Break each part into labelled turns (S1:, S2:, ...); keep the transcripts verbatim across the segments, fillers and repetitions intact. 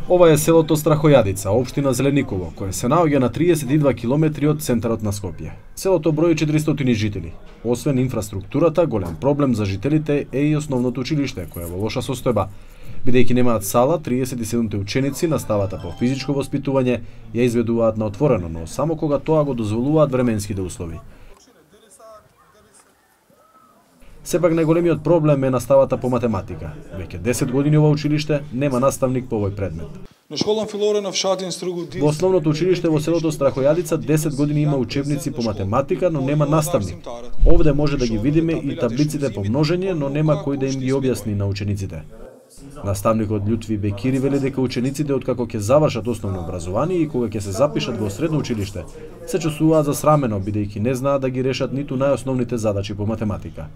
S1: Ова е селото Страхојадица, општина Зелениково, кое се наоѓа на триесет и два километри од центарот на Скопје. Селото брои четиристотини жители. Освен инфраструктурата, голем проблем за жителите е и основното училиште, кое е во лоша состојба. Бидејќи немаат сала, триесет и седум ученици наставата по физичко воспитување ја изведуваат на отворено, но само кога тоа го дозволуваат временските услови. Сепак најголемиот проблем е наставата по математика. Веќе десет години ова училиште нема наставник по овој предмет. Во основното училиште во селото Страхојадица десет години има учебници по математика, но нема наставник. Овде може да ги видиме и таблиците по множење, но нема кој да им ги објасни на учениците. Наставникот Љутви Бекири вели дека учениците откако ќе завршат основно образование и кога ќе се запишат во средно училиште, се чувствуваат засрамено бидејќи не знаат да ги решат ниту најосновните задачи по математика.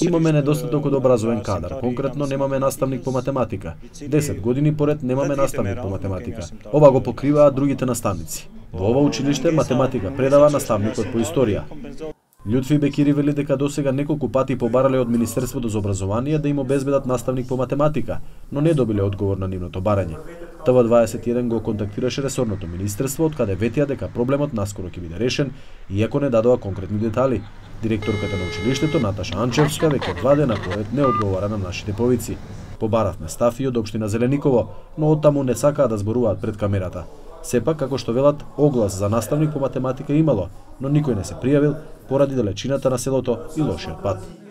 S1: Имаме недостаток од образовен кадар, конкретно немаме наставник по математика. десет години поред немаме наставник по математика. Ова го покриваат другите наставници. Во ова училиште математика предава наставникот по историја. Љутви Бекири вели дека досега неколку пати побарале од Министерството за образование да им обезбедат наставник по математика, но не добиле одговор на нивното барање. Т В дваесет и еден го контактираше ресорното министерство, од каде ветија дека проблемот наскоро ќе биде решен, иако не дадоа конкретни детали. Директорката на училиштето Наташа Анчевска веќе два дена поред не одговара на нашите повици. Побаравме став и од општина Зелениково, но оттаму не сакаа да зборуваат пред камерата. Сепак, како што велат, оглас за наставник по математика имало, но никој не се пријавил поради далечината на селото и лошиот пат.